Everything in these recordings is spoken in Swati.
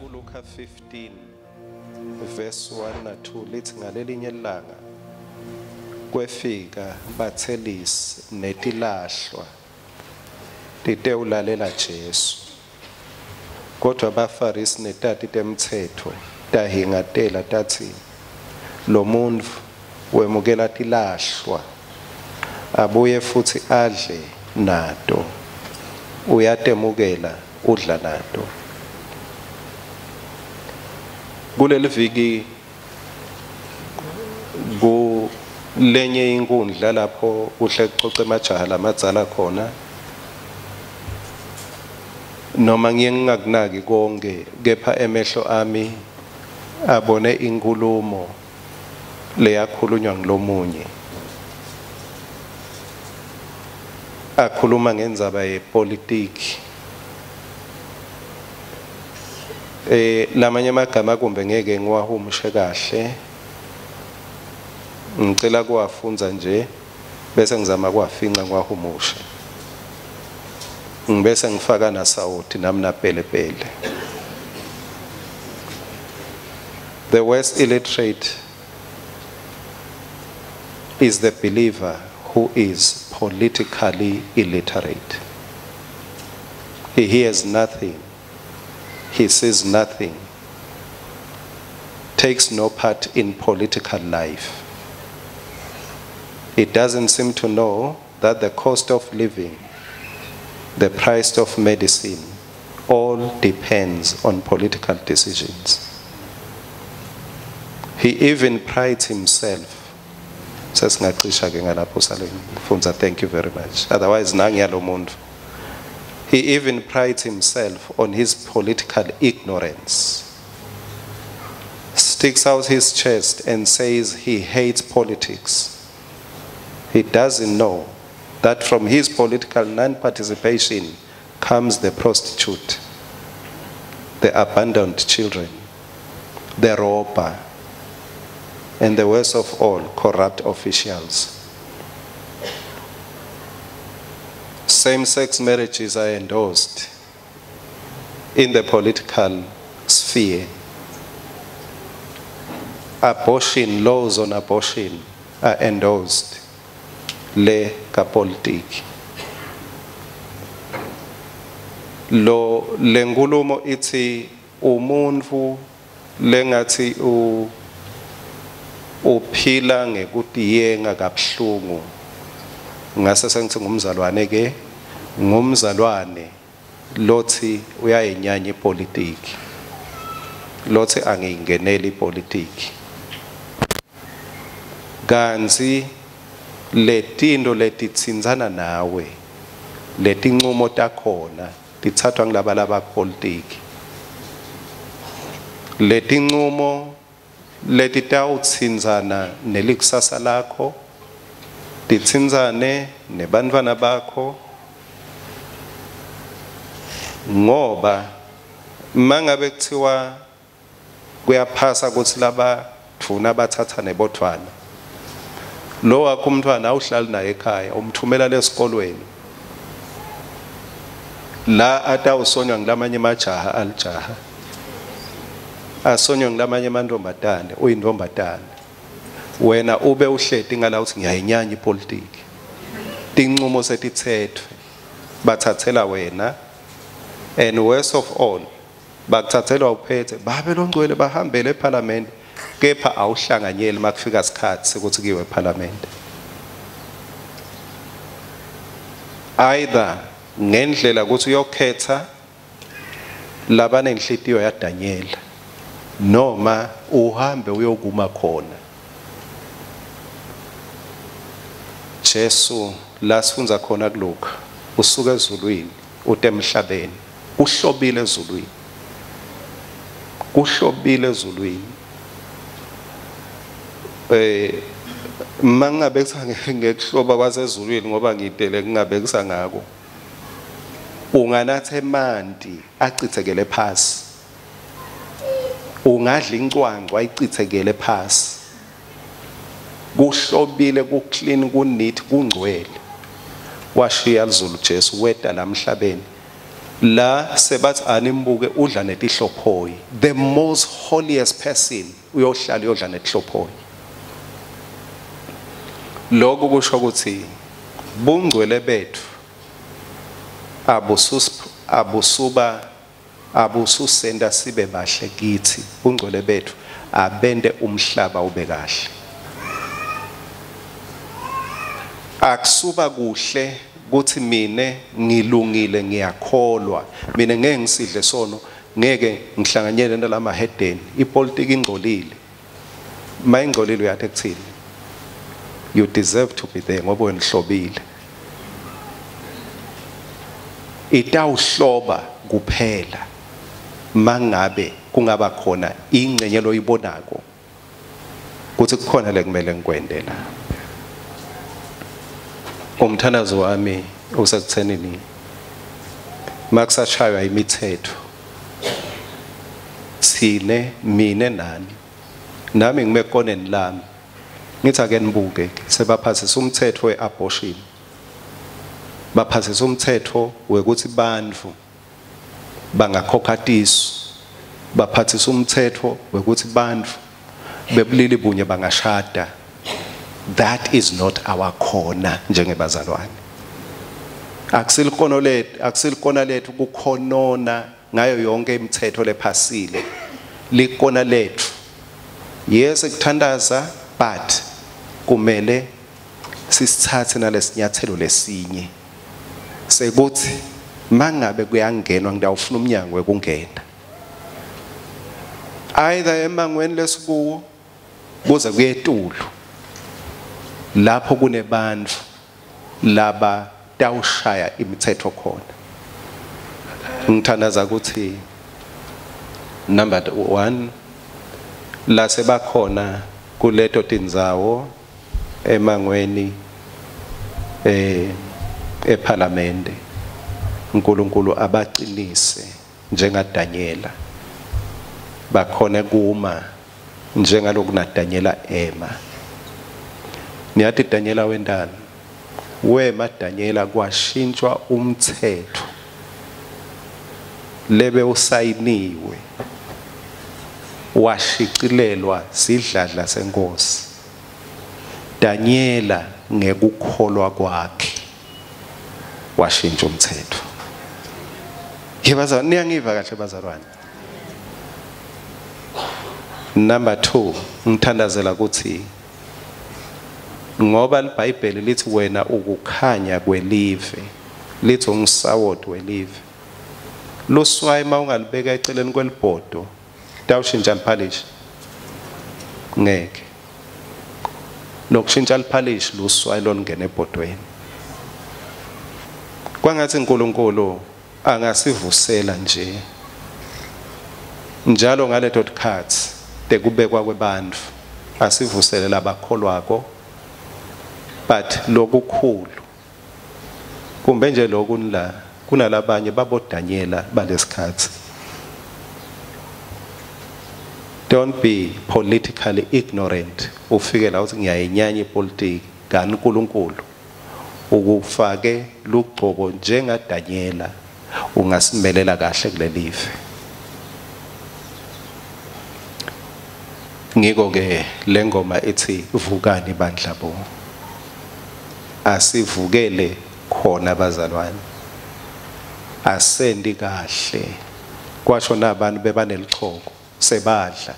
kuLuka 15 verse 1 na 2 lithi ngalelinye ilanga kwefika bathelisi netilahlwa titewulalela Jesu, kodwa abaFarisi netati temtsetfo tahingatela tatsi lo muntfu wemukela tilahlwa abuye futsi adle nato, uyatemukela udla nato. Kuleli viki kulenye inkundla lapho kuhle kucoce emajaha lamadzala khona, noma ngiye ngingakunaki konke, kepha emehlo ami abone inkulumo leyakhulunywa ngilomunye akhuluma ngendzaba yepolitiki. Lamanye amagama kumbe ngeke ngiwahumushe kahle, ngicela kuwafundza nje bese ngizama kuwafinca ngiwahumushe, ngibese ngifaka nasawoti nami napelepele. The worst illiterate is the believer who is politically illiterate. He hears nothing, he sees nothing, takes no part in political life. He doesn't seem to know that the cost of living, the price of medicine, all depends on political decisions. He even prides himself. Sesingacisha ke ngalapho sale mfundza, thank you very much. Otherwise nangiyalo muntu. He even prides himself on his political ignorance. Sticks out his chest and says he hates politics. He doesn't know that from his political non-participation comes the prostitute, the abandoned children, the robber, and the worst of all, corrupt officials. Same-sex marriages are endorsed in the political sphere. Abortion, laws on abortion are endorsed. Le kapolitiki. Lo lenkulumo ithi umuntfu lengathi uphila ngekutiyenga kabuhlungu. Ngase sengithi ngumzalwane ke, ngumzalwane lothi uyayinyanya ipolitiki, lothi angiyingeneli ipolitiki. Kantsi letinto letitsintsana nawe, letincumo takhona tithathwa ngilaba labapolitiki. Letincumo letitawutsintsana nelikusasa lakho, titsintsane nebantfwana bakho, ngoba mangabe kuthiwa kuyaphasa kutsi labadvuna bathatha nebodvwana, lo wakho umntfwana awuhlali naye ekhaya, umthumela lesikolweni la atawusonywa ngilamanye emajaha alijaha, asonywa ngilamanye amantombazane uyintombazane, wena ube uhleti ngala uthi ngiyayinyanya ipolitiki. Tincumo setitsetfwe bathathela wena, and worst of all bakuthathelwa uphethe babe longcwele bahambele eParliament, kepha awuhlanganyeli makufika isikhathi ukuthi kuyiwe eParliament. Either ngendlela ukuthi uyokhetha labanenhlitiyo yaDaniel, noma uhambe uyokuma khona. Jesu la sifundza khona kuLuka, usuka ezulwini ute emhlabeni, uhlobile ezulwini, kuhlobile ezulwini. Mangabe ngekuhloba kwasezulwini ngoba ngidele kungabe kusangako, unganatha emanti acithekele phasi, ungadla incwancwa ayicithekele phasi. Kuhlobile, ku-clean, ku-neat, kungcwele. Washiya lizulu Jesu weta la emhlabeni, La sebathi animbuke udla netihlophoyi. The most holiest person uyohlala uyodla netihlophoyi. Lokhu kusho ukuthi bungcwele bethu abususenda sibe bahle kithi. Bungcwele bethu abende umhlaba ube kahle. Akusuba kuhle kuthi mine ngilungile ngiyakholwa, mina ngeke ngisidle sono, ngeke ngihlanganyele nalamahedeni, ipolitiki ingcolile. Mayingcolile uyathi ekuthini? You deserve to be there ngoba wena uhlobile. Itawuhloba kuphela mangabe kungaba khona ingcenye loyibonako kuthi kukhona lekumele ngikwende la. Umthandazo wami usekuthenini makusashaywa imithetho thine mine nani nami ngime koneni lami ngithi ake nibuke sebaphasisa umthetho weabortion, baphasisa umthetho wekuthi bantfu bangakhokha tisu, baphathisa umthetho wekuthi bantfu bebulili bunye bangashada. That is not our corner njengebazalwane. Akusilikhono lethu, akusilikona lethu kukhonona ngayo yonke imithetho lephasile. Likona lethu. Yes, kuthandaza, but kumele sisithathe nalesinyathelo lesinye sekuthi mangabe kuyangenwa ngidawufuna umnyango wekungena. Either emangweni lesikuwo kuze kuyetulu lapho kunebantu laba tawushaya imithetho khona. Ngithandaza ukuthi number 1 la sebakhona kuleto tindzawo emangweni eParliament, uNkulunkulu abaqinise njengaDaniela, bakhone kuma njengaloku naDaniela ema. Niyathi Daniela wendani? Wema Daniela kwashintshwa umthetho lebe usayiniwe washicilelwa sidladla senkosi. Daniela ngekukholwa kwakhe washintsha umthetho. Yebazalwane, niyangiva kahle bazalwane? Number 2, ngithandazela ukuthi ngoba iBhayibheli lithi wena ukukhanya kwelive, lithi ungisawoti welive. Luswayi mawungalibeka eceleni kwelibhodo tawushintsha liphalishi ngeke. Lokushintsha liphalishi luswayi lolungena ebhodweni. Kwangathi uNkulunkulu angasivusela nje njalo ngaleto tikhatsi tekubekwa kwebantfu, asivusele labakholwako. But lokukhulu kumbe nje lokhu la kunalabanye baboDaniela balesikhatsi. Don't be politically ignorant. Ufike la uthi ngiyayinyanya ipolitiki, kanti uNkulunkulu ukufake lugcobo njengaDaniela, ungasimelela kahle kulelive. Ngiko ke lengoma ithi vukani bandla bo. Asivukele khona bazalwane. Asendi kahle. Kwasho nabantu bebanelichoko sebadla.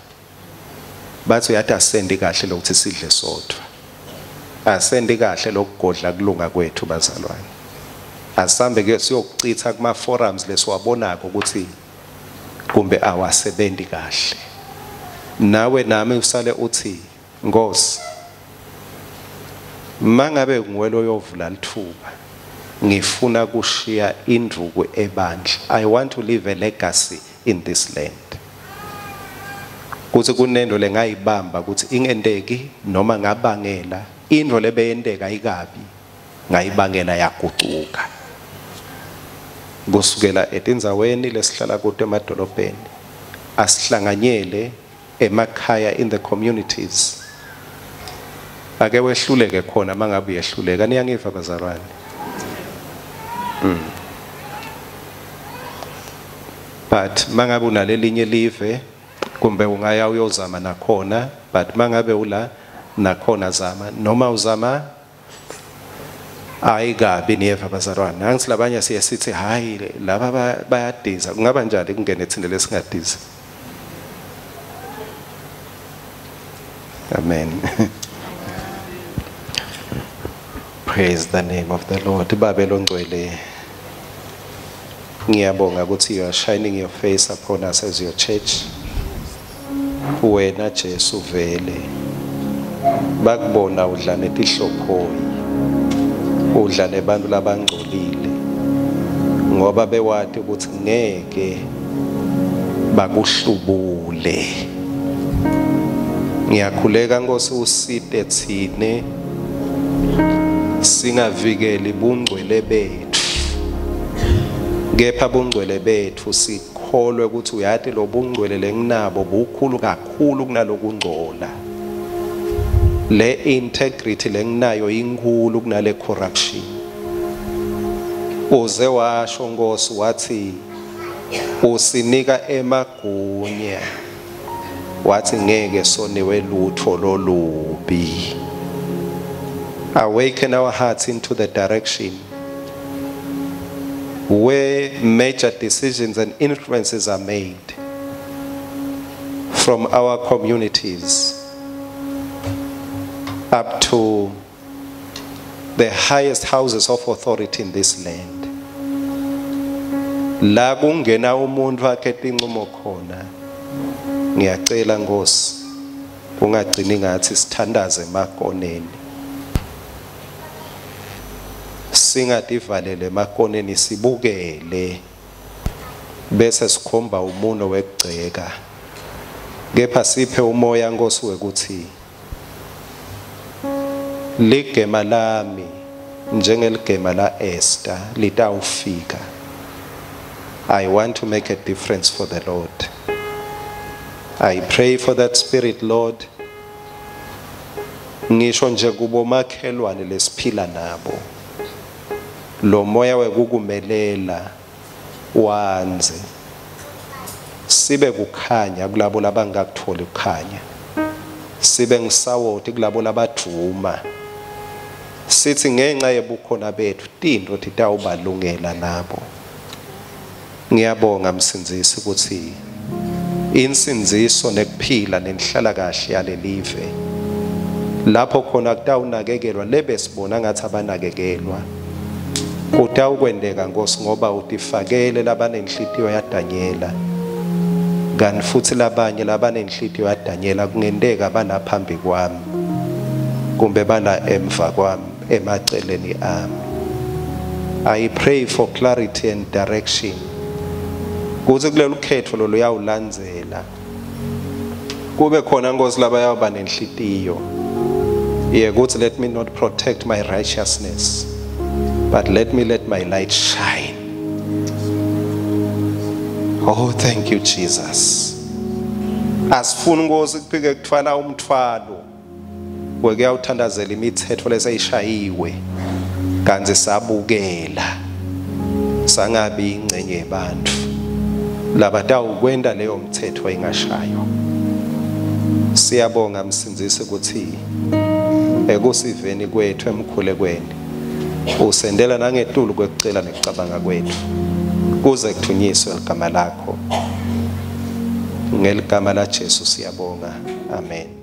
Bathi uyathi asendi kahle lokuthi sidle sodwa. Asendi kahle lokugodla kulunga kwethu bazalwane. Asambe ke siyokucitha kuma forums lesiwabonako ukuthi kumbe awasebenzi kahle. Nawe nami usale uthi Nkosi, mangabe nguwe loyovula lithuba, ngifuna kushiya indvuku ebandla. I want to leave a legacy in this land. Kuthi kunento lengayibamba ukuthi ingenteki noma ngabangela into lebeyenteka ayikabi, ngayibangela yagucuka. Kusukela etindzaweni lesihlala kuto emadolobheni, asihlanganyele emakhaya in the communities. Ake wehluleke khona mangabe uyehluleka. Niyangiva bazalwane? But mangabe unalelinye live kumbe ungaya uyozama nakhona, but mangabe ula nakhona zama noma uzama ayikabi niyeva bazalwane. Angithi labanye siye sithi hayi laba bayadiza, kungaba njani kungene thina lesingadiza? Amen. Praise the name of the Lord. Babe longcwele, ngiyabonga ukuthi you are shining your face upon us as your church. Wena Jesu vele bakubona udla netihlophoyi, udla nebantu labangcolile, ngoba bewati ukuthi ngeke bakuhlubule. Ngiyakhuleka Nkosi usite thine singavikeli bungcwele bethu, kepha bungcwele bethu sikholwe ukuthi uyati lo bungcwele lenginabo bukhulu kakhulu kunalokungcola. Le integrity lenginayo inkulu kunale corruption. Uze washo Nkosi wathi usinika emagunya, wathi ngeke soniwe lutho lolubi. Awaken our hearts into the direction where major decisions and influences are made from our communities up to the highest houses of authority in this land. La kungena umuntu akhethe inqumo khona, ngiyacela Nkosi ungagcini ngathi sithandaze emakoneni, singadivalele emakoneni, sibukele bese sikhomba umuno wekugceka, kepha siphe umoya Nkosi wekuthi ligema lami njengeligema la Esther litawufika. I want to make a difference for the Lord. I pray for that spirit, Lord. Ngisho nje kubomakhelwane lesiphila nabo, lo moya wekukumelela wanze sibe kukhanya kulabo labangakutholi ukukhanya, sibe ngisawoti kulabo labadvuma, sithi ngenxa yebukhona bethu tintfo titawubalungela nabo. Ngiyabonga Msindzisi ukuthi insindziso nekuphila nenhlala kahle yalelive lapho khona kutawunakekelwa lebe sibona ngathi abanakekelwa, kutawukwendeka Nkosi ngoba utifakele labanenhlitiyo yaDanyela, kanti futhi labanye labanenhlitiyo yaDanyela kungenteka balaphambi kwami kumbe bala emva kwami emaceleni ami. I pray for clarity and direction kuze kulelu khetho loluyawulandzela kube khona Nkosi labayawuba nenhlitiyo yekuthi let me not protect my righteousness, but let me let my light shine. Oh, thank you Jesus. Asifuni Nkosi kuphike kuthwala umthwalo wekuyawuthandazela imithetho leseyishayiwe kanti sabukela sangabi ingcenye yebantu labatawukwenta leyo mthetho ingashaywa. Siyabonga Msindzisi ukuthi ekusiveni kwethu emkhulekweni usendela nangetulu kwekucela nekucabanga kwethu kuze kuthunyiswe ligama lakho. Ngeligama la Jesu siyabonga. Amen.